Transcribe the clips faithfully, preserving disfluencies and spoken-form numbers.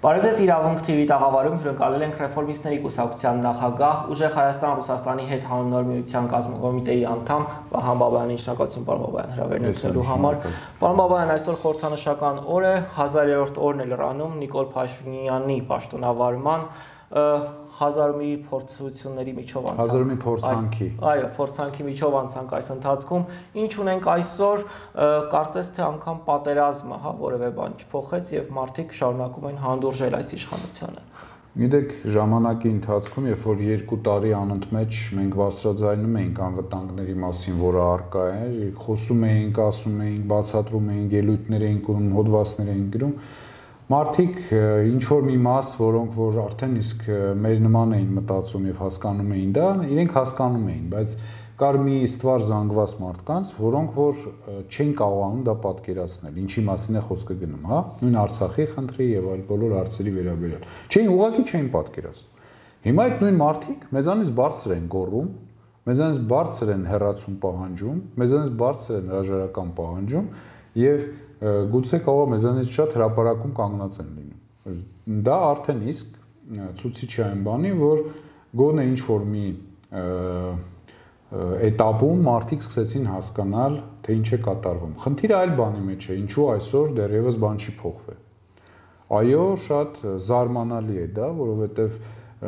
Բարեձեզ իրավունք T V տաղավարում հյուրընկալել ենք ռեֆորմիստների կուսակցության նախագահ, Ուժեղ Հայաստան-Ռուսաստանի հետ հանուն միության կազմակերպիտեի անդամ Վահան Բաբայանին, շնորհակալություն պարոն Բաբայան հրավերն ունեցելու համար։ Պարոն Բաբայան, այսօր խորհրդանշական օր է, հազարերորդ օրն է լրանում Նիկոլ Փաշինյանի պաշտոնավարման, հազար մի փորձությունների միջով անցանք։ Հազար մի փորձանքի։ Այո, փորձանքի միջով անցանք այս ընթացքում։ Ինչ ունենք այսօր, կարծես թե անգամ պատերազմը, հա, որևէ բան չփոխեց եւ մարդիկ շարունակում են հանդուրժել այս իշխանությանը։ Գիտեք, ժամանակի ընթացքում, երբ որ երկու տարի անընդմեջ մենք բարձրաձայնում էինք անվտանգների մասին, որը առկա է, խոսում էինք, ասում էինք, բացատրում էինք, ելույթներ էինք ունենում, հոդվածներ էինք գրում, մարդիկ ինչ որ մի մաս, որոնք որ արդեն իսկ մեր նման էին մտածում եւ հասկանում էին դա, իրենք հասկանում էին, բայց կար մի ստվար զանգված մարդկանց, որոնք որ չեն կարողանում դա պատկերացնել, ինչի մասին է խոսքը գնում, հա, նույն Արցախի խնդրի եւ այլ բոլոր հարցերի վերաբերյալ։ Չէին, ուղղակի չէին պատկերացնում։ Հիմա այդ նույն մարդիկ մեզանից բարձր են գոռում, մեզանից բարձր են հեռացում պահանջում, մեզանից բարձր են հրաժարական պահանջում եւ գուցե կարող մեզանից շատ հրապարակում կանգնած են լինում։ Դա արդեն իսկ ցույցիչ է այն բանի, որ գոնե ինչ որ մի էտապում մարդիկ սկսեցին հասկանալ, թե ինչ է կատարվում։ Խնդիրը այլ բանի մեջ է, ինչու այսօր դեռևս բան չի փոխվել։ Այո, շատ զարմանալի է դա, որովհետև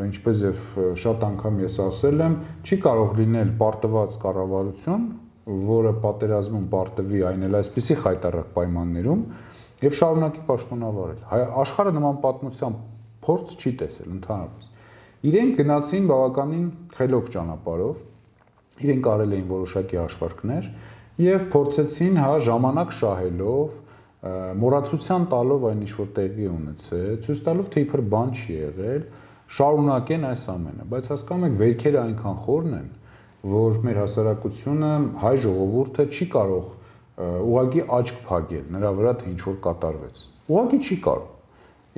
ինչպես եւ շատ անգամ ես ասել եմ, չի կարող լինել պարտված կառավարություն, որը պատերազմում պարտվի այն էլ այսպիսի խայտառակ պայմաններում եւ շարունակի պաշտոնավարել։ Աշխարհը նման պատմության փորձ չի տեսել ընդհանրապես։ Իրենք գնացին բավականին խելոք ճանապարհով, իրենք արել էին որոշակի հաշվարկներ եւ փորձեցին հա ժամանակ շահելով, մոռացության տալով այն ինչ որ տեղի ունեցել, ցույց տալով թե իբր բան չի եղել, շարունակեն այս ամենը, բայց հասկանում եք վերքերը այնքան խորն են, որ մեր հասարակությունը, հայ ժողովուրդը չի կարող ուղղակի աչք փակել նրա վրա թե ինչ որ կատարվեց։ Ուղղակի չի կարող։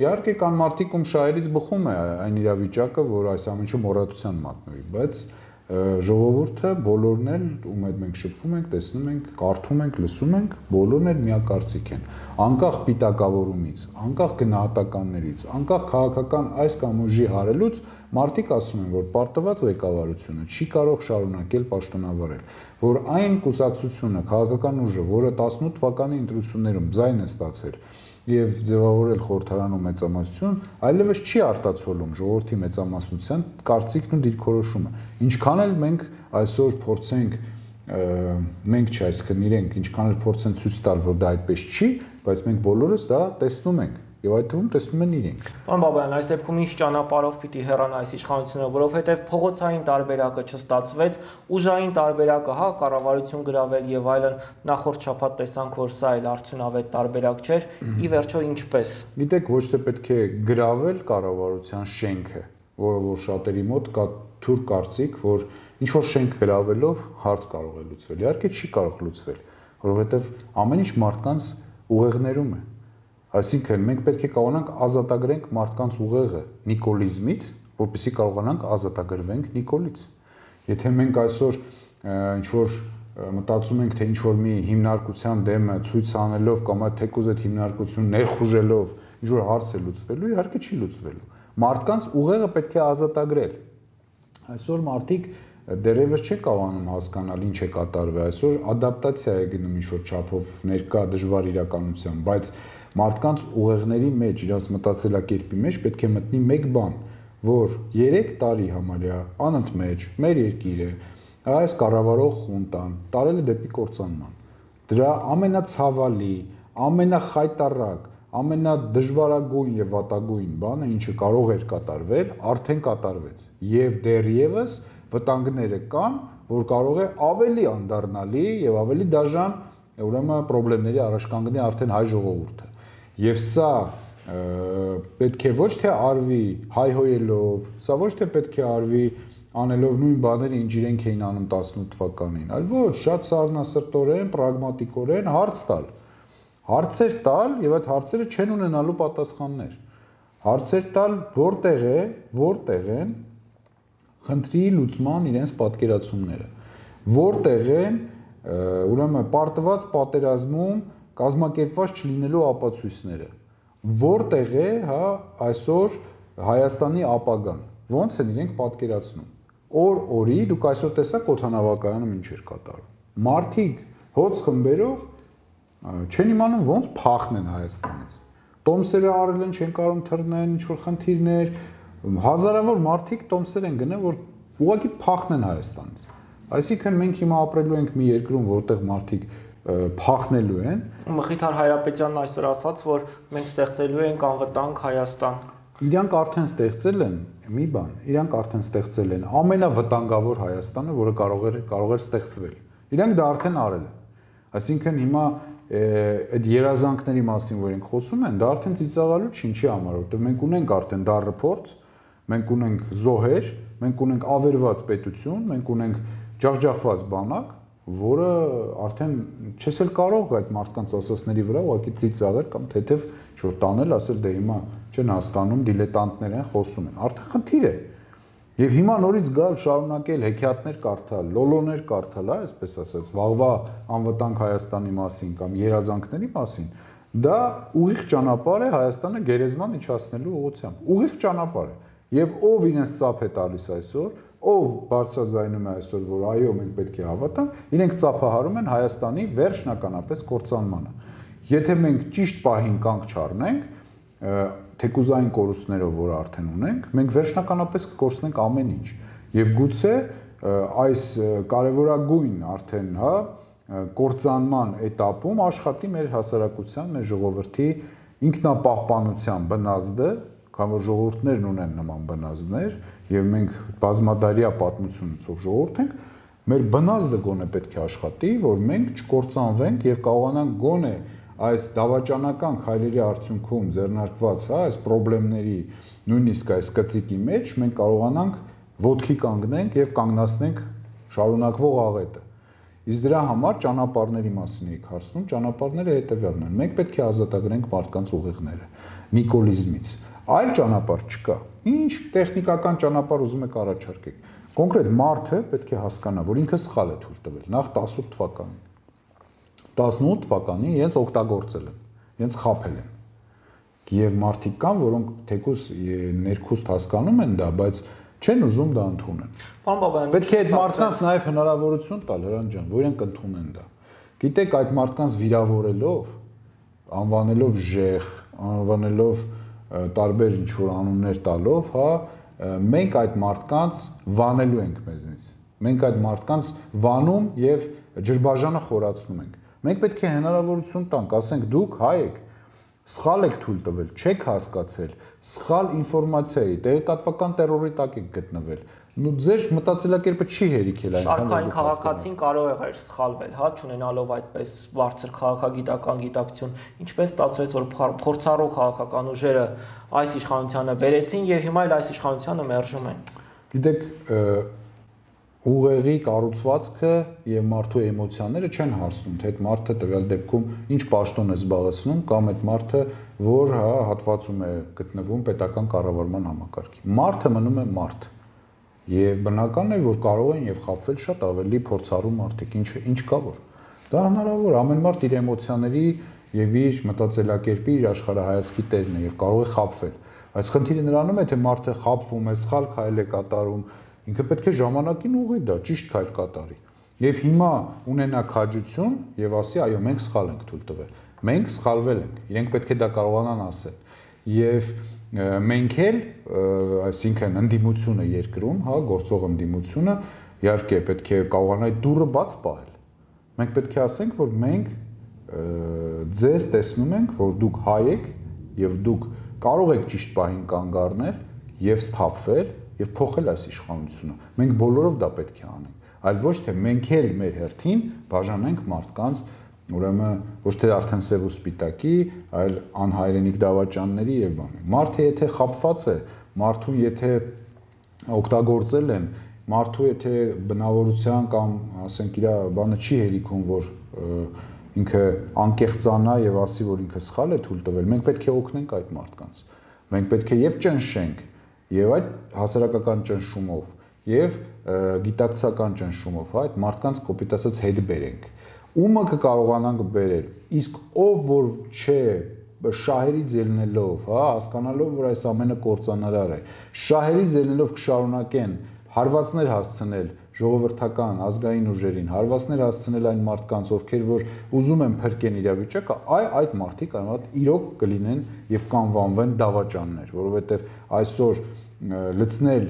Իհարկե կան մարդիկ, ում շահերից բխում է այն իրավիճակը, որ այս ամենը մոռացության մատնվի, բայց ժողովուրդը բոլորն էլ, ում հետ մենք շփվում ենք, տեսնում ենք, կարդում ենք, լսում ենք, բոլորն էլ միակարծիք են։ Անկախ պիտակավորումից, անկախ գնահատականներից, անկախ քաղաքական այս կամ ուժի հարելուց, մարդիկ ասում են, որ պարտված ղեկավարությունը չի կարող շարունակել պաշտոնավարել, որ այն կուսակցությունը, քաղաքական ուժը, որը տասնութ թվականի ընտրություններում ձայն է ստացել եւ ձևավորել խորհրդարանում մեծամասնություն, այլևս չի արտացոլում ժողովրդի մեծամասնության կարծիքն ու դիրքորոշումը։ Ինչքան էլ մենք այսօր փորձենք մենք չէ, այսինքն իրենք ինչքան էլ փորձեն ցույց տալ, որ դա այդպես չի, բայց մենք բոլորս դա տեսնում ենք եւ այդ թվում տեսնում են իրենք։ Պարոն Բաբայան, այս դեպքում ինչ ճանապարհով պիտի հեռանա այս իշխանությունը, որովհետեւ փողոցային տարբերակը չստացվեց, ուժային տարբերակը, հա, կառավարություն գրավել եւ այլն, նախորդ շաբաթ տեսանք, որ սա էլ արդյունավետ տարբերակ չէր, ի վերջո ինչպես։ Գիտեք, ոչ թե պետք է գրավել կառավարության շենքը, որը որ շատերի մոտ կա թուր կարծիք, որ ինչ որ շենք գրավելով հարց կարող է լուծվել։ Իհարկե չի կարող լուծվել, որովհետեւ ամեն ինչ մարդկանց ուղեղներում է։ Այսինքն մենք պետք է կարողանանք ազատագրենք մարդկանց ուղեղը նիկոլիզմից, որպեսզի կարողանանք ազատագրվենք Նիկոլից։ Եթե մենք այսօր ինչ որ մտածում ենք, թե ինչ որ մի հիմնարկության դեմը ցույց անելով կամ այդ թեկուզ այդ հիմնարկություն ներխուժելով ինչ որ հարց է լուծվելու, իհարկե չի լուծվելու։ Մարդկանց ուղեղը պետք է ազատագրել։ Այսօր մարդիկ դեռևս չեն կարողանում հասկանալ ինչ է կատարվել, այսօր ադապտացիա է գնում ինչ որ չափով ներկա դժվար իրականության, բայց մարդկանց ուղեղների մեջ, իրաց մտածելակերպի մեջ պետք է մտնի մեկ բան, որ երեք տարի համարյա անընդմեջ մեր երկիրը այս կառավարող խունտան տարել է դեպի կործանման։ Դրա ամենացավալի, ամենախայտառակ, ամենադժվարագույն եւ վատագույն բանը, ինչը կարող էր կատարվել, արդեն կատարվեց։ Եվ դեռևս վտանգները կան, որ կարող է ավելի անդառնալի եւ ավելի դաժան, ուրեմն խնդիրների առաջ կանգնի արդեն հայ ժողովուրդը։ Եվ սա պետք է ոչ թե արվի հայհոյելով, սա ոչ թե պետք է արվի անելով նույն բաները, ինչ իրենք էին անում տասնութ թվականին, այլ ոչ, շատ սառնասրտորեն, պրագմատիկորեն հարց տալ։ Հարցեր տալ եւ այդ հարցերը չեն ունենալու պատասխաններ։ Հարցեր տալ որտեղ է, որտեղ են խնդրի լուծման իրենց պատկերացումները։ Որտեղ են ուրեմն պարտված պատերազմում կազմակերպված չլինելու ապացույցները։ որտեղ է, հա, այսօր Հայաստանի ապագան։ Ոնց են իրենք պատկերացնում։ Օր օրի դուք այսօր տեսաք օդանավակայանը ինչ էր կատարում։ Մարդիկ հոց խմբերով չեն իմանում ոնց փախնեն Հայաստանից։ Տոմսերը արել են, չեն կարող թռնեն, ինչ որ խնդիրներ, հազարավոր մարդիկ տոմսեր են գնել, որ ուղղակի փախնեն Հայաստանից։ Այսինքն մենք հիմա ապրելու ենք մի երկրում, որտեղ մարդիկ փախնելու են։ Մխիթար Հայրապետյանն այսօր ասաց, որ մենք ստեղծելու ենք անվտանգ Հայաստան։ Իրանք արդեն ստեղծել են մի բան, իրանք արդեն ստեղծել են ամենավտանգավոր Հայաստանը, որը կարող էր կարող էր ստեղծվել։ Իրանք դա արդեն արել են։ Այսինքն հիմա այդ երազանքների մասին, որ ենք խոսում են, դա արդեն ծիծաղալու չի, ինչի համար, որովհետև մենք ունենք արդեն դառը փորձ, մենք ունենք զոհեր, մենք ունենք ավերված պետություն, մենք ունենք ջախջախված բանակ, որը արդեն չես էլ կարող այդ մարդկանց ասածների վրա ուղղակի ծիծաղել կամ թեթև ինչ-որ տանել, ասել դե հիմա չեն հասկանում, դիլետանտներ են, խոսում են, արդեն խնդիր է։ Եվ հիմա նորից գալ շարունակել հեքիաթներ կարդալ, լոլոներ կարդալ, հա, այսպես ասած, վաղվա անվտանգ Հայաստանի մասին կամ երազանքների մասին, դա ուղիղ ճանապարհ է Հայաստանը գերեզման իջացնելու ուղղությամբ։ Ուղիղ ճանապարհ է։ Եվ ով իրենց ծափ է տալիս այսօր, ով բարձրաձայնում է այսօր, որ այո, մենք պետք է հավատանք, իրենք ծափահարում են Հայաստանի վերջնականապես կործանմանը։ Եթե մենք ճիշտ պահին կանգ չառնենք, թեկուզային կորուստներով, որ արդեն ունենք, մենք վերջնականապես կկորցնենք ամեն ինչ։ Եվ գուցե այս կարևորագույն արդեն, հա, կործանման этаպում աշխատի մեր հասարակության, մեր ժողովրդի ինքնապահպանության բնազդը, քանի որ ժողովուրդներն ունեն նման բնազդներ, եւ մենք բազմադարյա պատմություն ունեցող ժողովուրդ ենք, մեր բնազդը գոնե պետք է աշխատի, որ մենք չկործանվենք եւ կարողանանք գոնե այս դավաճանական քայլերի արդյունքում ձեռնարկված, հա, այս խնդիրների, նույնիսկ այս կծիկի մեջ մենք կարողանանք ոտքի կանգնենք եւ կանգնացնենք շարունակվող աղետը։ Իսկ դրա համար ճանապարհների մասին եք հարցնում, ճանապարհները հետեւյալն են։ Մենք պետք է ազատագրենք մարդկանց ուղիղները նիկոլիզմից։ Այլ ճանապարհ չկա։ Ինչ տեխնիկական ճանապարհ ուզում եք առաջարկեք։ Կոնկրետ մարդը պետք է հասկանա, որ ինքը սխալ է թույլ տվել նախ տասնութ թվականին։ տասնութ թվականին իրենց օգտագործել են, իրենց խաբել են։ Եվ մարդիկ կան, որոնք թեկուզ ներքուստ հասկանում են դա, բայց չեն ուզում դա ընդունեն։ Պարոն Բաբայան, պետք է այդ մարդկանց նաև հնարավորություն տալ, Հրանտ ջան, որ իրենք ընդունեն դա։ Գիտեք, այդ մարդկանց վիրավորելով, անվանելով ժեղ, անվանելով տարբեր ինչ-որ անուններ տալով, հա, մենք այդ մարդկանց վանելու ենք մեզնից։ Մենք այդ մարդկանց վանում եւ ջրբաժանը խորացնում ենք։ Մենք պետք է հնարավորություն տանք, ասենք դուք հայ եք, սխալ եք թույլ տվել, չեք հասկացել, սխալ ինֆորմացիա է, տեղեկատվական տերորի տակ եք գտնվել։ Նու ձեր մտածելակերպը չի հերիքել այնքան։ Շարքային քաղաքացին կարող է սխալվել, հա, չունենալով այդպես բարձր քաղաքագիտական գիտակցություն, ինչպես ստացվեց, որ փորձառու քաղաքական ուժերը այս իշխանությանը բերեցին եւ հիմա էլ այս իշխանությանը մերժում են։ Գիտեք, ուղեղի կառուցվածքը եւ մարդու էմոցիաները չեն հարցնում, թե այդ մարդը տվյալ դեպքում ինչ պաշտոն է զբաղեցնում կամ այդ մարդը որ հա հատվածում է գտնվում պետական կառավարման համակարգի։ Մարդը մնում է մարդ։ Եվ բնական է, որ կարող են եւ խաբվել շատ ավելի փորձառու մարդիկ, ինչ ինչ կա որ։ Դա հնարավոր, ամեն մարդ իր էմոցիաների եւ իր մտածելակերպի, իր աշխարհայացքի տերն է եւ կարող է խաբվել։ Այս խնդիրը նրանում է, թե մարդը խաբվում է, սխալ քայլ է կատարում, ինքը պետք է ժամանակին ուղղի դա, ճիշտ քայլ կատարի։ Եվ հիմա ունենա քաջություն եւ ասի, այո, մենք սխալ ենք թույլ տվել։ Մենք սխալվել ենք։ Իրենք պետք է դա կարողանան ասել։ Եվ մենք էլ, այսինքն ընդդիմությունը երկրում, հա, գործող ընդդիմությունը, իհարկե պետք է կարողանա այդ դուռը բաց պահել։ Մենք պետք է ասենք, որ մենք ձեզ տեսնում ենք, որ դուք հայ եք եւ դուք կարող եք ճիշտ պահին կանգ առնել եւ սթափվել եւ փոխել այս իշխանությունը։ Մենք բոլորով դա պետք է անենք, այլ ոչ թե մենք էլ մեր հերթին բաժանենք մարդկանց, ուրեմն ոչ թե արդեն սև ու սպիտակի, այլ անհայրենիք դավաճանների եւ բան։ Մարդը եթե խաբված է, մարդուն եթե օգտագործել են, մարդու եթե բնավորության կամ ասենք իր բանը չի հերիքում, որ ինքը անկեղծանա եւ ասի, որ ինքը սխալ է թույլ տվել, մենք պետք է օգնենք այդ մարդկանց։ Մենք պետք է եւ ճնշենք եւ այդ հասարակական ճնշումով եւ գիտակցական ճնշումով, հա, այդ մարդկանց կոպիտ ասած հետ բերենք։ Ումը կկարողանանք բերել, իսկ ով որ չէ շահերից ելնելով, հա, հասկանալով, որ այս ամենը կործանարար է, շահերից ելնելով կշարունակեն հարվածներ հասցնել ժողովրդական ազգային ուժերին, հարվածներ հասցնել այն մարդկանց, ովքեր որ ուզում են փրկեն իրավիճակը, այ այդ մարդիկ այնուհետ իրոք կլինեն եւ կանվանվեն դավաճաններ, որովհետեւ այսօր լցնել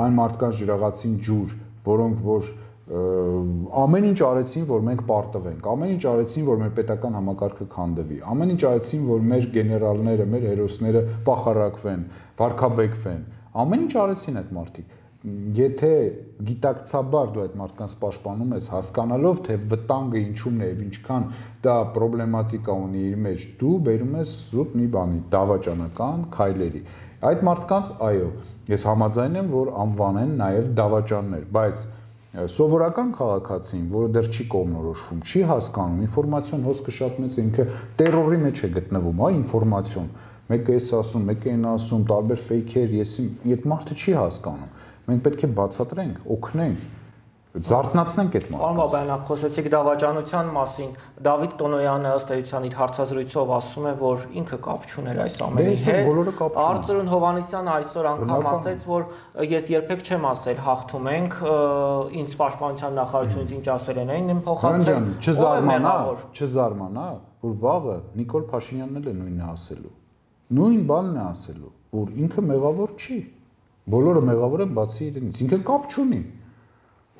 այն մարդկանց ջրաղացին ջուր, որոնք որ ամեն ինչ արեցին, որ մենք պարտվենք, ամեն ինչ արեցին, որ մեր պետական համակարգը քանդվի, ամեն ինչ արեցին, որ մեր գեներալները, մեր հերոսները պախարակվեն, վարքաբեկվեն, ամեն ինչ արեցին այդ մարդիկ։ Եթե գիտակցաբար դու այդ մարդկանց պաշտպանում ես, հասկանալով, թե վտանգը ինչումն է եւ ինչքան դա պրոբլեմատիկա ունի իր մեջ, դու բերում ես զուտ մի բանի, դավաճանական քայլերի։ Այդ մարդկանց, այո, ես համաձայն եմ, որ անվանեն նաեւ դավաճաններ, բայց սովորական քաղաքացին, որը դեռ չի կողմնորոշվում, չի հասկանում, ինֆորմացիոն հոսքը շատ մեծ է, ինքը տերորի մեջ է գտնվում, հա, ինֆորմացիոն։ Մեկը էս ասում, մեկը այն ասում, տարբեր ֆեյքեր, եսի, այդ մարդը չի հասկանում։ Մենք պետք է բացատրենք, օգնենք, զարթնացնենք այդ մարդկանց։ Պարոն Բաբայան, խոսեցիք դավաճանության մասին։ Դավիթ Տոնոյանը ըստ էության իր հարցազրույցով ասում է, որ ինքը կապ չուներ այս ամենի հետ։ Արծրուն Հովհաննիսյանը այսօր անգամ ասաց, որ ես երբեք չեմ ասել հաղթում ենք, ինձ պաշտպանության նախարարությունից ինչ ասել են, այն եմ փոխանցել։ Չզարմանա, չզարմանա, որ վաղը Նիկոլ Փաշինյանն էլ է նույնը ասելու։ Նույն բանն է ասելու, որ ինքը մեղավոր չի։ Բոլորը մեղավոր են բացի իրենից, ինքը կապ չունի։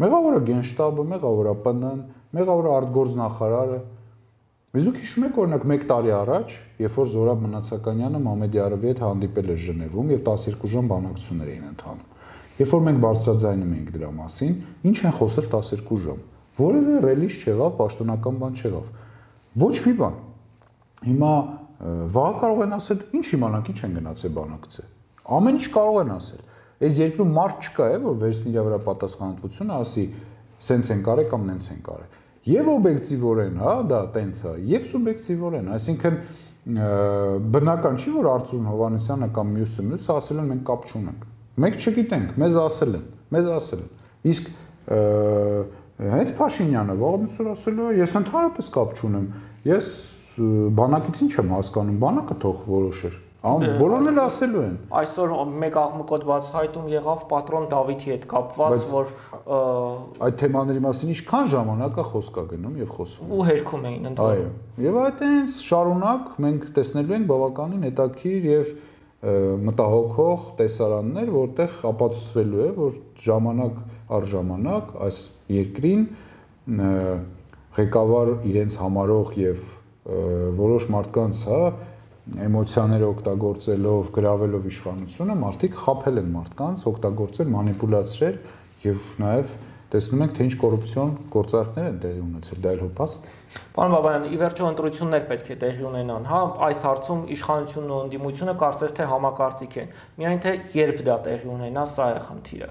Մեղավորը Գենշտաբը, մեղավորը Պ Ն-ն, մեղավորը արտգործնախարարը։ Իսկ դուք հիշում եք օրինակ մեկ տարի առաջ, երբ որ Զորաբ Մնացականյանը Մամեդյարովի հետ հանդիպել էր Ժնևում եւ տասներկու ժամ բանակցություններ էին ընթանում։ Երբ որ մենք բարձրաձայնում էինք դրա մասին, ինչ են խոսել տասներկու ժամ։ Որևէ ռելիզ չեղավ, պաշտոնական բան չեղավ։ Ոչ մի բան։ Հիմա վաղ կարող են ասել, ինչ իմանանք, ինչ են գնացել բանակցել։ Ամեն ինչ կարող են ասել։ Այս երկրում մարդ չկա է, որ վերցնի իր վրա պատասխանատվությունը, ասի, սենց են կարել կամ նենց են կարել։ Եվ օբյեկտիվորեն, հա, դա տենց է, եւ սուբյեկտիվորեն, այսինքն բնական չի, որ Արծրուն Հովհաննիսյանը կամ մյուսը մյուսը ասել են մենք կապ չունենք։ Մենք չգիտենք, մեզ ասել են, մեզ ասել են։ Իսկ հենց Փաշինյանը վաղամիսուր ասել է, ես ընդհանրապես կապ չունեմ։ Ես բանակից ինչ եմ հասկանում, բանակը թող որոշեր։ Բոլորն էլ ասելու են։ Այսօր մեկ աղմկոտ բացահայտում եղավ պատրոն Դավիթի հետ կապված, որ այդ թեմաների մասին ինչքան ժամանակ է խոսք է գնում եւ խոսվում։ Ու հերքում էին Այո։ ընդհանուր։ Եվ այդտենց շարունակ մենք տեսնելու ենք բավականին հետաքրքիր եւ մտահոգող տեսարաններ, որտեղ ապացուցվելու է, որ ժամանակ առ ժամանակ այս երկրին ղեկավար իրենց համարող եւ որոշ մարդկանց, հա, էմոցիաները օգտագործելով, գրավելով իշխանությունը, մարդիկ խաբել են մարդկանց, օգտագործել, մանիպուլացրել եւ նաեւ տեսնում ենք, թե ինչ կոռուպցիոն գործարքներ են տեղի ունեցել, դա էլ հոփաստ։ Պարոն Բաբայան, ի վերջո ընտրություններ պետք է տեղի ունենան, հա, այս հարցում իշխանությունն ու ընդդիմությունը կարծես թե համակարծիք են։ Միայն թե երբ դա տեղի ունենա, սա է խնդիրը։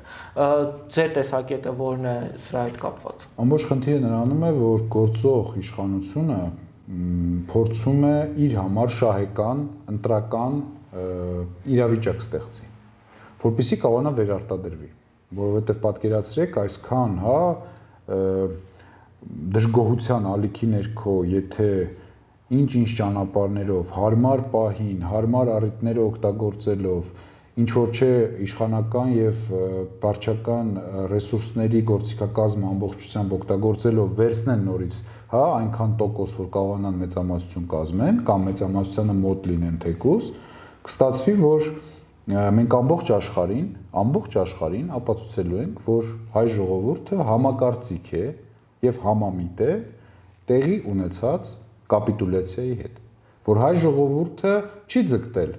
Ձեր տեսակետը որն է սրա հետ կապված։ Ամբողջ խնդիրը նրանում է, որ գործող իշխանությունը փորձում է իր համար շահեկան, ընտրական իրավիճակ ստեղծի, որպեսզի կարողանա վերարտադրվի, որովհետև պատկերացրեք այսքան, հա, դժգոհության ալիքի ներքո, եթե ինչ-ինչ ճանապարհներով, հարմար պահին, հարմար առիթները օգտագործելով, ինչ որ չէ իշխանական եւ վարչական ռեսուրսների գործիքակազմը ամբողջությամբ օգտագործելով վերցնեն նորից, հա, այնքան տոկոս, որ կարողանան մեծամասնություն կազմեն կամ մեծամասնությանը մոտ լինեն թեկուզ, կստացվի, որ մենք ամբողջ աշխարհին, ամբողջ աշխարհին ապացուցելու ենք, որ հայ ժողովուրդը համակարծիք է եւ համամիտ է տեղի ունեցած կապիտուլյացիայի հետ, որ հայ ժողովուրդը չի ձգտել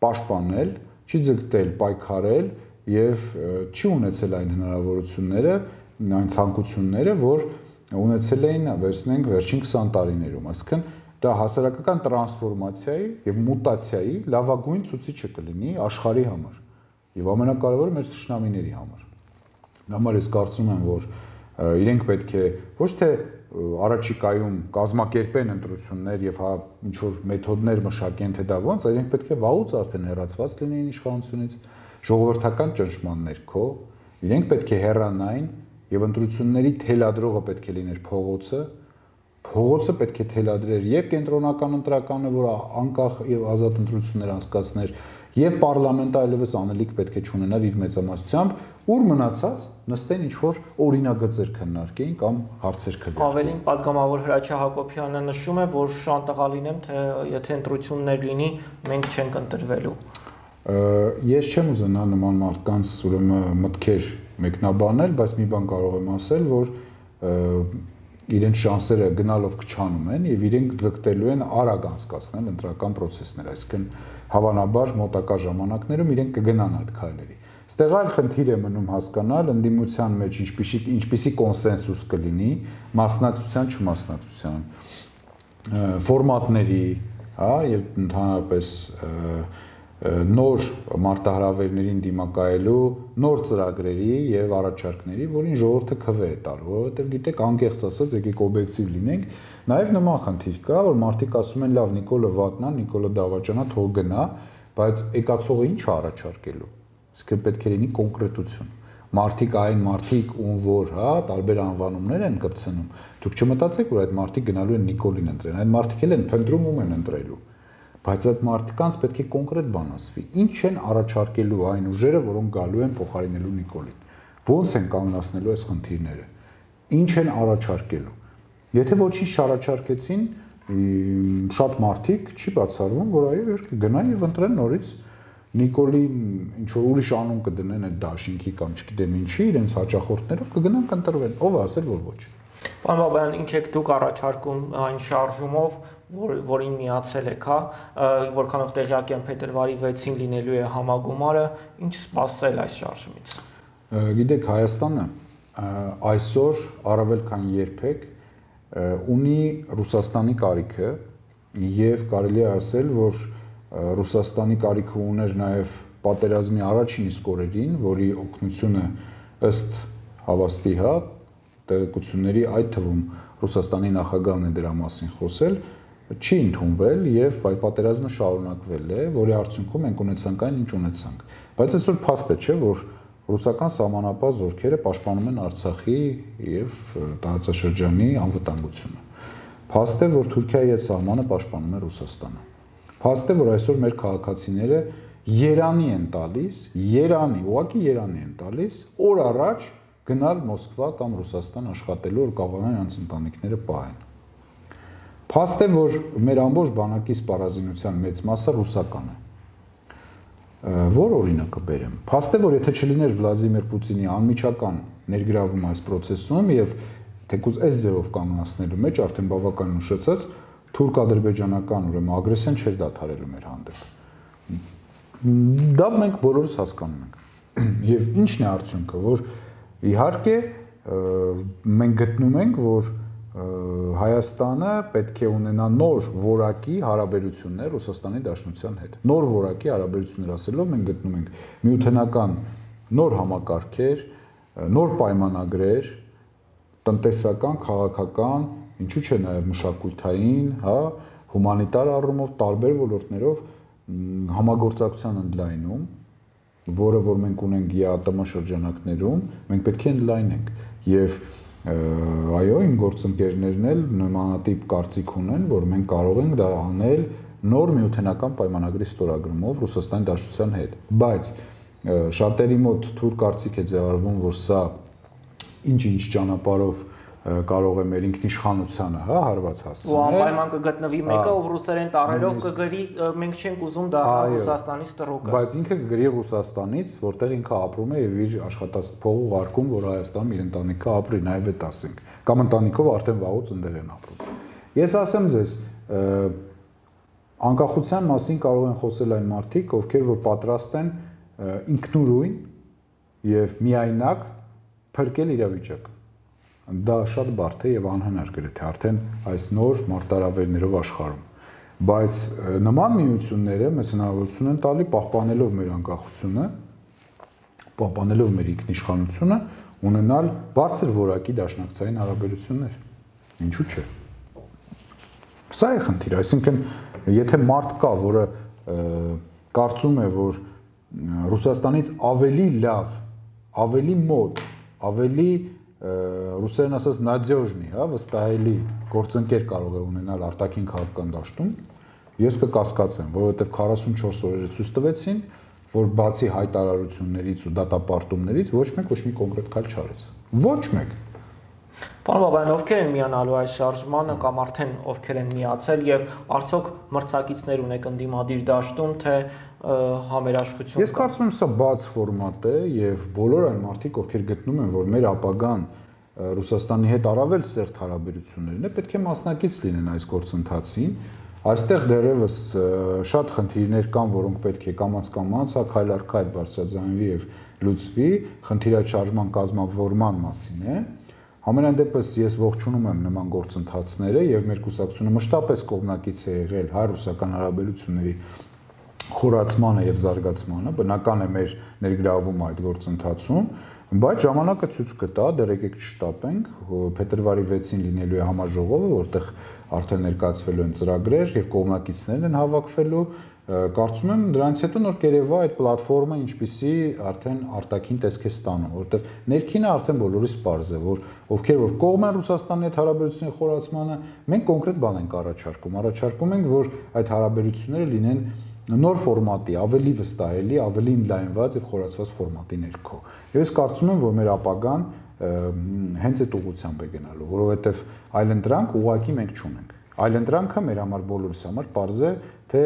պաշտպանել, չի ձգտել պայքարել եւ չի ունեցել այն հնարավորությունները, այն ցանկությունները, որ ունեցել էին, վերցնենք վերջին քսան տարիներում, այսինքն դա հասարակական տրանսֆորմացիայի եւ մուտացիայի լավագույն ցուցիչը կլինի աշխարհի համար եւ ամենակարևորը մեր թշնամիների համար։ Համար ես կարծում եմ, որ իրենք պետք է ոչ թե առաջիկայում կազմակերպեն ընտրություններ եւ հա ինչ որ մեթոդներ մշակեն, թե դա ոնց, այլ իրենք պետք է վաղուց արդեն հեռացված լինեին իշխանությունից, ժողովրդական ճնշման ներքո, իրենք պետք է հեռանային եւ ընտրությունների թելադրողը պետք է լիներ փողոցը, Փողոցը պետք է թելադրեր եւ կենտրոնական ընտրականը, որ անկախ եւ ազատ ընտրություններ անցկացներ, եւ պարլամենտը այլևս անելիք պետք է չունենար իր մեծամասնությամբ, ուր մնացած նստեն ինչ որ օրինագծեր քննարկեին կամ հարցեր քննարկեին։ Ավելին պատգամավոր Հրաչյա Հակոբյանը նշում է, որ շանտաղա լինեմ, թե եթե ընտրություններ լինի, մենք չենք ընտրվելու։ Ես չեմ ուզենա նման մարդկանց ուրեմն մտքեր մեկնաբանել, բայց մի բան կարող եմ ասել, որ իրենց շանսերը գնալով քչանում են եւ իրենք ձգտելու են արագ անցկացնել ընտրական process-ներ, այսինքն հավանաբար մոտակա ժամանակներում իրենք կգնան այդ քայլերի։ Ստեղ այլ խնդիր է մնում հասկանալ ընդդիմության մեջ ինչպիսի ինչպիսի կոնսենսուս կլինի մասնակցության չմասնակցության ֆորմատների, հա, եւ ընդհանրապես նոր մարտահրավերներին դիմակայելու նոր ծրագրերի եւ առաջարկների, որին ժողովուրդը քվե է տալու, որովհետեւ գիտեք, անկեղծ ասած, եկեք օբյեկտիվ լինենք, նաեւ նման խնդիր կա, որ մարդիկ ասում են, լավ, Նիկոլը վատնա, Նիկոլը դավաճանա, թող գնա, բայց եկածողը ինչ է առաջարկելու։ Իսկ պետք է լինի կոնկրետություն։ Մարդիկ այն մարդիկ, ում որ, հա, տարբեր անվանումներ են կպցնում, դուք չմտածեք, որ այդ մարդիկ գնալու են Նիկոլին ընտրեն, այդ մարդիկ էլ են փնտրում ում են ընտրելու։ Բայց այդ մարդկանց պետք է կոնկրետ բան ասվի։ Ինչ են առաջարկելու այն ուժերը, որոնք գալու են փոխարինելու Նիկոլին։ Ոնց են կանգնացնելու այս խնդիրները։ Ինչ են առաջարկելու։ Եթե ոչինչ չառաջարկեցին, շատ մարդիկ չի բացառվում, որ այո, երբ գնան եւ ընտրեն նորից Նիկոլի ինչ որ ուրիշ անուն կդնեն այդ դաշինքի կամ չգիտեմ ինչի, իրենց հաճախորդներով կգնան կընտրվեն։ Ով է ասել, որ ոչ։ Պարոն Բաբայան, ինչ եք դուք առաջարկում այն շարժումով, որ որին միացել եք, հա, որքանով տեղյակ եմ փետրվարի վեցին լինելու է համագումարը, ինչ սպասել այս շարժումից։ Գիտեք, Հայաստանը այսօր առավել քան երբեք ունի Ռուսաստանի կարիքը եւ կարելի է ասել, որ Ռուսաստանի կարիքը ուներ նաեւ պատերազմի առաջին իսկ օրերին, որի օգնությունը ըստ հավաստի, հա, տեղեկությունների, այդ թվում Ռուսաստանի նախագահն է դրա մասին խոսել, չի ընդունվել եւ այ պատերազմը շարունակվել է, որի արդյունքում մենք ունեցանք այն, ինչ ունեցանք։ Բայց այսօր փաստ է, չէ, որ ռուսական սահմանապահ զորքերը պաշտպանում են Արցախի եւ տարածաշրջանի անվտանգությունը։ Փաստ է, որ Թուրքիայի այդ սահմանը պաշտպանում է Ռուսաստանը։ Փաստ է, որ այսօր մեր քաղաքացիները Երանի են տալիս, Երանի, ուղղակի Երանի են տալիս, օր առաջ գնալ Մոսկվա կամ Ռուսաստան աշխատելու, որ կարողանան նրանց ընտանիքները պահեն։ Փաստ է, որ մեր ամբողջ բանակի սպառազինության մեծ մասը ռուսական է։ Որ օրինակը բերեմ։ Փաստ է, որ եթե չլիներ Վլադիմիր Պուտինի անմիջական ներգրավում այս process-ում եւ թեկուզ այս ձևով կանգնացնելու մեջ արդեն բավական ուշացած թուրք-ադրբեջանական ուրեմն ագրեսիան չէր դադարելու մեր հանդեպ։ Դա մենք բոլորս հասկանում ենք։ Եվ ինչն է արդյունքը, որ իհարկե մենք գտնում ենք, որ Հայաստանը պետք է ունենա նոր որակի հարաբերություններ Ռուսաստանի Դաշնության հետ։ Նոր որակի հարաբերություններ ասելով մենք գտնում ենք միութենական նոր համակարգեր, նոր պայմանագրեր, տնտեսական, քաղաքական, ինչու՞ չէ նաև մշակութային, հա, հումանիտար առումով տարբեր ոլորտներով համագործակցության ընդլայնում, որը որ մենք ունենք ԵԱՏՄ շրջանակներում, մենք պետք է ընդլայնենք եւ այո, իմ գործընկերներն էլ նմանատիպ կարծիք ունեն, որ մենք կարող ենք դա անել նոր միութենական պայմանագրի ստորագրումով Ռուսաստանի Դաշնության հետ, բայց շատերի մոտ թուր կարծիք է ձևավորվում, որ սա ինչ-ինչ ճանապարհով կարող է մեր ինքնիշխանությանը, հա, հարված հասցնել։ Ու անպայման կգտնվի մեկը, ով ռուսերեն տառերով կգրի, մենք չենք ուզում դառնալ Ռուսաստանից տրոկը։ Բայց ինքը կգրի Ռուսաստանից, որտեղ ինքը ապրում է եւ իր աշխատած փող ուղարկում, որ Հայաստանում իր ընտանիքը ապրի, նաեւ այդ ասենք, կամ ընտանիքով արդեն վաղուց ընդեղ են ապրում։ Ես ասեմ ձեզ, անկախության մասին կարող են խոսել այն մարդիկ, ովքեր որ պատրաստ են ինքնուրույն եւ միայնակ փրկել իրավիճակը։ Դա շատ բարդ է եւ անհնար գրեթե արդեն այս նոր մարտահրավերներով աշխարհում, բայց նման միությունները մեզ հնարավորություն են տալի պահպանելով մեր անկախությունը, պահպանելով մեր ինքնիշխանությունը, ունենալ բարձր որակի դաշնակցային հարաբերություններ։ Ինչու՞ չէ։ Սա է խնդիրը, այսինքն եթե մարդ կա, որը կարծում է, որ Ռուսաստանից ավելի լավ, ավելի մոտ, ավելի ռուսերեն ասած նադյոժնի, հա, վստահելի գործընկեր կարող է ունենալ արտաքին քաղաքական դաշտում, ես կկասկածեմ, որովհետև քառասունչորս օրերը ցույց տվեցին, որ բացի հայտարարություններից ու դատապարտումներից ոչ մեկ ոչ մի կոնկրետ քայլ չարեց։ Ոչ մեկ։ Պարոն Բաբայան, ովքեր են միանալու այս շարժմանը կամ արդեն ովքեր են միացել եւ արդյոք մրցակիցներ ունեք ընդդիմադիր դաշտում, թե համերաշխություն։ Ես կարծում եմ, սա բաց ֆորմատ է եւ բոլոր այն մարդիկ, ովքեր գտնում են, որ մեր ապագան Ռուսաստանի հետ առավել սերտ հարաբերություններն է, պետք է մասնակից լինեն այս գործընթացին։ Այստեղ դեռևս շատ խնդիրներ կան, որոնք պետք է կամաց-կամաց, հա, քայլ առ քայլ բարձրաձայնվի եւ լուծվի, խնդիրաչարժման կազմավորման մասին է։ Համենայն դեպս ես ողջունում եմ նման գործընթացները եւ մեր կուսակցությունը մշտապես կողմնակից է եղել հայ-ռուսական հարաբերությունների խորացմանը եւ զարգացմանը, բնական է մեր ներգրավումը այդ գործընթացում, բայց ժամանակը ցույց կտա, դեռ եկեք չշտապենք, փետրվարի վեցին լինելու է համաժողովը, որտեղ արդեն ներկայացվելու են ծրագրեր եւ կողմնակիցներն են հավաքվելու, կարծում եմ դրանից հետո նոր կերևա այդ պլատֆորմը ինչպիսի արդեն արտաքին տեսք է ստանում, որովհետեւ ներքինը արդեն բոլորիս պարզ է, որ ովքեր որ կողմ են Ռուսաստանի հետ հարաբերությունների խորացմանը, մենք կոնկրետ բան ենք առաջարկում, առաջարկում ենք, որ այդ հարաբերությունները լինեն նոր ֆորմատի, ավելի վստահելի, ավելի ընդլայնված եւ խորացված ֆորմատի ներքո։ Եվ ես կարծում եմ, որ մեր ապագան հենց այդ ուղղությամբ է գնալու, որովհետեւ այլընտրանք ուղղակի մենք չունենք։ Այլընտրանքը մեր համար բոլորիս համար պարզ է, թե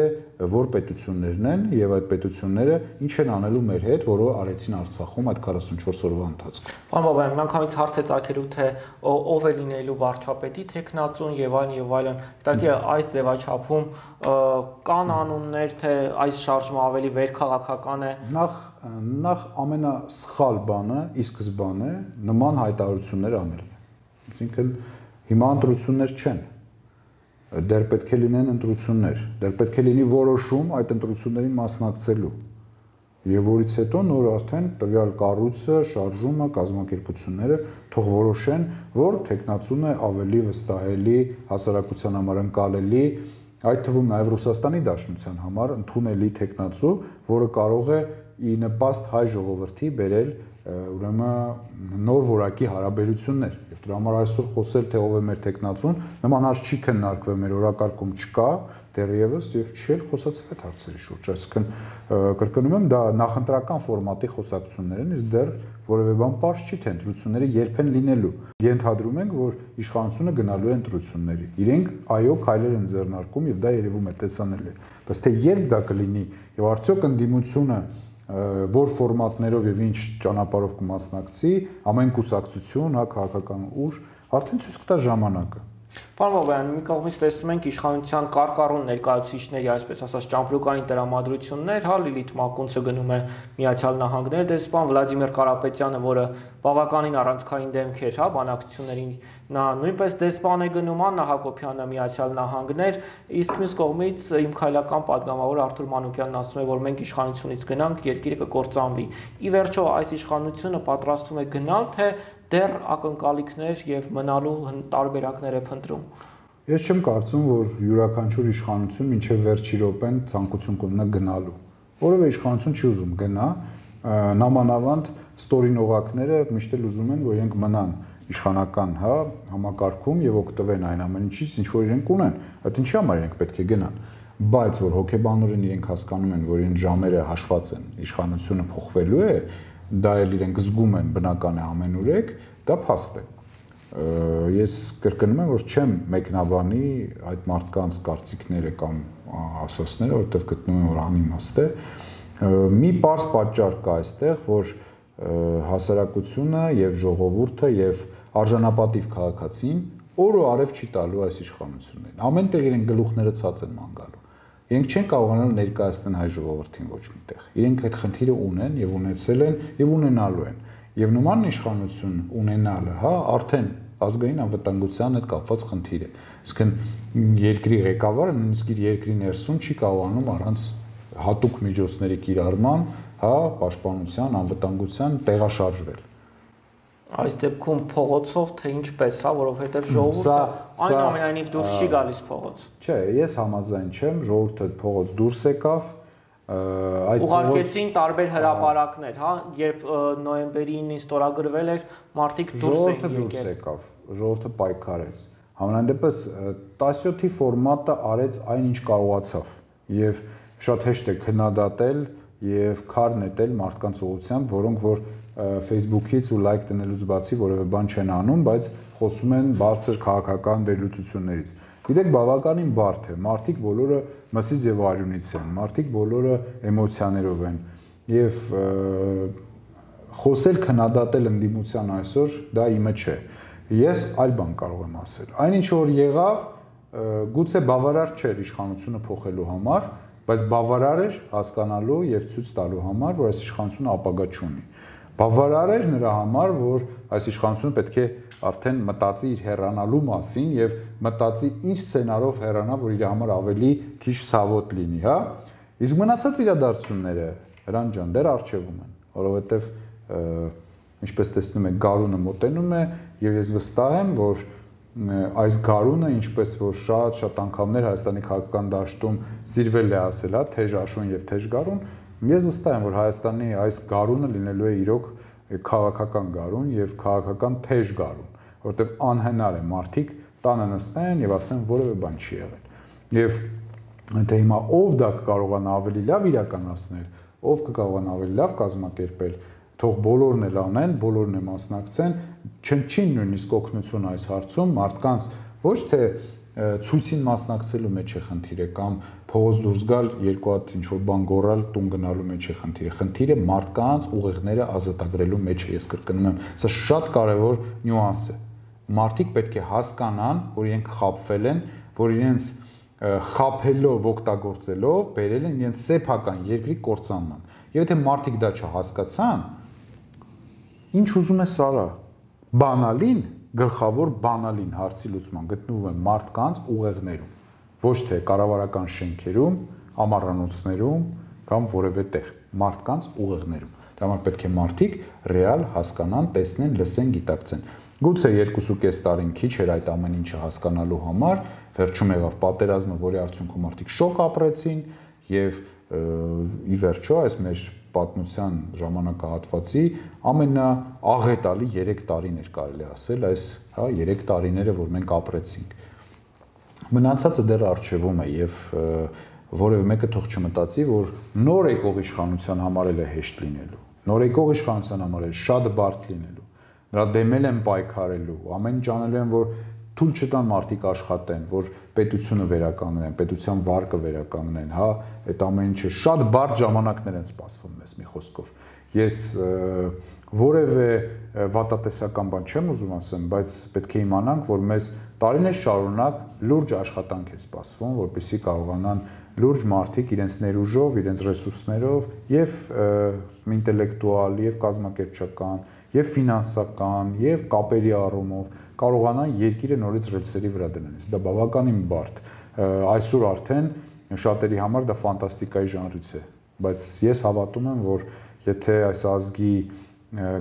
որ պետություններն են եւ այդ պետությունները ինչ են անելու մեր հետ, որը արեցին Արցախում այդ քառասունչորս օրվա ընթացքում։ Պարոն Բաբայան, միանգամից հարց է ծագելու, թե ով է լինելու վարչապետի տեխնացուն եւ այլն եւ այլն։ Դիտակի այս ձևաչափում կան անուններ, թե այս շարժումը ավելի վերքաղաքական է։ Նախ նախ ամենասխալ բանը, ի սկզբանե նման հայտարարություններ անելն է։ Այսինքն հիմա ընտրություններ չեն։ Դեռ պետք է լինեն ընտրություններ, դեռ պետք է լինի որոշում այդ ընտրություններին մասնակցելու։ Եվ որից հետո նոր արդեն տվյալ կառույցը, շարժումը, կազմակերպությունները թող որոշեն, որ տեխնացուն է ավելի վստահելի, հասարակության համար ընկալելի, այդ թվում նաև Ռուսաստանի Դաշնության համար ընդունելի տեխնացու, որը կարող է ի նպաստ հայ ժողովրդի բերել ուրեմն նոր որակի հարաբերություններ։ Եվ դրա համար այսօր խոսել թե ով է մեր տեխնացուն, նման հարց չի քննարկվել, մեր օրակարգում չկա դեռևս եւ չի էլ խոսացել այդ հարցերի շուրջ։ Այսինքն կրկնում եմ, դա նախընտրական ֆորմատի խոսակցություններ են, իսկ դեռ որևէ բան պարզ չի, թե ընտրությունները երբ են լինելու։ Ենթադրում ենք, որ իշխանությունը գնալու է ընտրությունների։ Իրենք այո քայլեր են ձեռնարկում եւ դա երևում է տեսանելի։ Բայց թե երբ դա կլինի եւ արդյոք ընդդիմությունը որ ֆորմատներով եւ ինչ ճանապարհով կմասնակցի, ամեն կուսակցություն, հա, քաղաքական ուժ, արդեն ցույց կտա ժամանակը։ Պարոն Բաբայան, մի կողմից տեսնում ենք իշխանության կարկառուն ներկայացուցիչների, այսպես ասած, ճամպրուկային տրամադրություններ, հա, Լիլիթ Մակունցը գնում է Միացյալ Նահանգներ, դեսպան Վլադիմիր Կարապետյանը, որը բավականին առանցքային դեմք էր, հա, բանակցություններին, նա նույնպես դեսպան է գնում, Աննա Հակոբյանը Միացյալ Նահանգներ, իսկ մյուս կողմից իմ քայլական падգամավոր Արթուր Մանուկյանն ասում է, որ մենք իշխանությունից գնանք, երկիրը կկործանվի։ Ի վերջո այս իշխանությունը պատրաստվում է գնալ, թե դեռ ակնկալիքներ եւ մնալու տարբերակներ է փնտրում։ Ես չեմ կարծում, որ յուրաքանչյուր իշխանություն մինչև վերջի րոպեն ցանկություն կունենա գնալու։ Որովհետեւ իշխանություն չի ուզում գնա, նամանավանդ ստորին օղակները միշտ էլ ուզում են, որ իրենք մնան իշխանական, հա, համակարգում եւ օգտվեն այն ամեն ինչից, ինչ որ իրենք ունեն։ Այդ ինչի համար իրենք պետք է գնան։ Բայց որ հոգեբանորեն իրենք հասկանում են, որ իրենց ժամերը հաշված են, իշխանությունը փոխվելու է, դա էլ իրենք զգում են, բնական է ամենուրեք, դա փաստ է։ Ես կրկնում եմ, որ չեմ մեկնաբանի այդ մարդկանց կարծիքները կամ ասածները, որովհետև գտնում եմ, որ անիմաստ է։ Մի պարզ պատճառ կա այստեղ, որ հասարակությունը եւ ժողովուրդը եւ արժանապատիվ քաղաքացին օր ու արև չի տալու այս իշխանություններին։ Ամեն տեղ իրենք գլուխները ցած են ման գալու։ Իրենք չեն կարողանալ ներկայացնել հայ ժողովրդին ոչ միտեղ։ Իրենք այդ խնդիրը ունեն եւ ունեցել են եւ ունենալու են։ Եվ նման իշխանություն ունենալը, հա, արդեն ազգային անվտանգության հետ կապված խնդիր է։ Իսկն երկրի ղեկավարը նույնիսկ իր երկրի ներսում չի կարողանում առանց հատուկ միջոցների կիրառման, հա, պաշտպանության, անվտանգության տեղաշարժվել։ Այս դեպքում փողոցով թե ինչպես, հա, որովհետև ժողովուրդը այնուամենայնիվ դուրս չի գալիս փողոց։ Չէ, ես համաձայն չեմ, ժողովուրդը փողոց դուրս եկավ, այդ ուղարկեցին տարբեր հրապարակներ, հա, երբ նոյեմբերի ինին ստորագրվել էր, մարդիկ դուրս էին եկել։ Ժողովուրդը պայքարեց։ Համենայն դեպս տասնյոթի ֆորմատը արեց այն ինչ կարողացավ եւ շատ հեշտ է քննադատել եւ քար նետել մարդկանց ուղղությամբ, որոնք որ Facebook-ից ու լայք տնելուց բացի որևէ բան չեն անում, բայց խոսում են բարձր քաղաքական վերլուծություններից։ Գիտեք, բավականին բարդ է, մարդիկ բոլորը մսից եւ արյունից են, մարդիկ բոլորը էմոցիաներով են եւ խոսել քննադատել ընդդիմության այսօր դա իմը չէ։ Ես այլ բան կարող եմ ասել։ Այնինչ որ եղավ, գուցե բավարար չէր իշխանությունը փոխելու համար, բայց բավարար էր հասկանալու եւ ցույց տալու համար, որ այս իշխանությունը ապագա չունի։ Բավարար էր նրա համար, որ այս իշխանությունը պետք է արդեն մտածի իր հեռանալու մասին եւ մտածի ինչ սցենարով հեռանա, որ իր համար ավելի քիչ ցավոտ լինի, հա։ Իսկ մնացած իրադարձությունները Հրանտ ջան դեռ արժևում են, որովհետեւ ինչպես տեսնում եք, գարունը մոտենում է եւ ես վստահ եմ, որ այս գարունը, ինչպես որ շատ-շատ անգամներ Հայաստանի քաղաքական դաշտում սիրվել է ասել, հա, թեժ աշուն եւ թեժ գարուն, ես վստահ եմ, որ Հայաստանի այս գարունը լինելու է իրոք քաղաքական գարուն եւ քաղաքական թեժ գարուն, որովհետեւ անհնար է մարդիկ տանը նստեն եւ ասեն որևէ բան չի եղել։ Եվ թե հիմա ով դա կկարողանա ավելի լավ իրականացնել, ով կկարողանա ավելի լավ կազմակերպել, թող բոլորն էլ անեն, բոլորն էլ մասնակցեն, չնչին նույնիսկ օգնություն այս հարցում մարդկանց ոչ թե ցույցին մասնակցելու մեջ է խնդիրը կամ փողոց դուրս գալ երկու հատ ինչ որ բան գոռալ տուն գնալու մեջ է խնդիրը, խնդիրը մարդկանց ուղեղները ազատագրելու մեջ է, ես կրկնում եմ, սա շատ կարևոր նյուանս է։ Մարդիկ պետք է հասկանան, որ իրենք խաբվել են, որ իրենց խաբելով, օգտագործելով բերել են իրենց սեփական երկրի կործանման։ Եվ եթե մարդիկ դա չհասկացան, ինչ ուզում ես արա, բանալին, գլխավոր բանալին հարցի լուծման գտնվում է մարդկանց ուղեղներում, ոչ թե կառավարական շենքերում, ամառանոցներում կամ որևէ տեղ, մարդկանց ուղեղներում։ Դա համար պետք է մարդիկ ռեալ հասկանան, տեսնեն, լսեն, գիտակցեն։ Գուցե երկուսու կես տարին քիչ էր այդ ամեն ինչը հասկանալու համար, վերջում եղավ պատերազմը, որի արդյունքում մարդիկ շոկ ապրեցին եւ ի վերջո այս մեր պատմության ժամանակահատվածի ամենաաղետալի երեք տարին էր կարելի ասել, այս հա երեք տարիները, որ մենք ապրեցինք։ Մնացածը դեռ արժևում է եւ որևէ մեկը թող չմտածի, որ նոր եկող իշխանության համար էլ է հեշտ լինելու։ Նոր եկող իշխանության համար էլ շատ բարդ լինելու։ Նրա դեմել են պայքարելու, ամեն ինչ անելու են, որ թույլ չտան մարդիկ աշխատեն, որ պետությունը վերականգնեն, պետության վարկը վերականգնեն, հա, այդ ամեն ինչը շատ բարդ ժամանակներ են սպասվում մեզ մի խոսքով։ Ես որևէ վատատեսական բան չեմ ուզում ասեմ, բայց պետք է իմանանք, որ մեզ տարիներ շարունակ լուրջ աշխատանք է սպասվում, որպեսզի կարողանան լուրջ մարդիկ իրենց ներուժով, իրենց ռեսուրսներով եւ ինտելեկտուալ, եւ կազմակերպչական, եւ ֆինանսական, եւ կապերի առումով կարողանան երկիրը նորից ռելսերի վրա դնել։ Դա բավականին բարդ։ Այսօր արդեն շատերի համար դա ֆանտաստիկայի ժանրից է, բայց ես հավատում եմ, որ եթե այս ազգի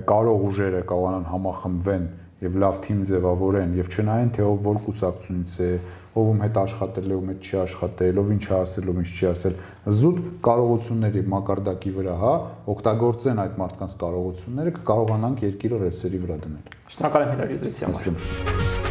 կարող ուժերը կարողանան համախմբվեն եւ լավ թիմ ձևավորեն եւ չնայեն թե ով որ կուսակցությունից է, ով ում հետ աշխատել է, ում հետ չի աշխատել, ով ինչ է ասել, ով ինչ չի ասել, զուտ կարողությունների մակարդակի վրա, հա, օգտագործեն այդ մարդկանց կարողությունները, կկարողանանք երկիրը ռելսերի վրա դնել։ Շնորհակալ եմ հյուրընկալության համար։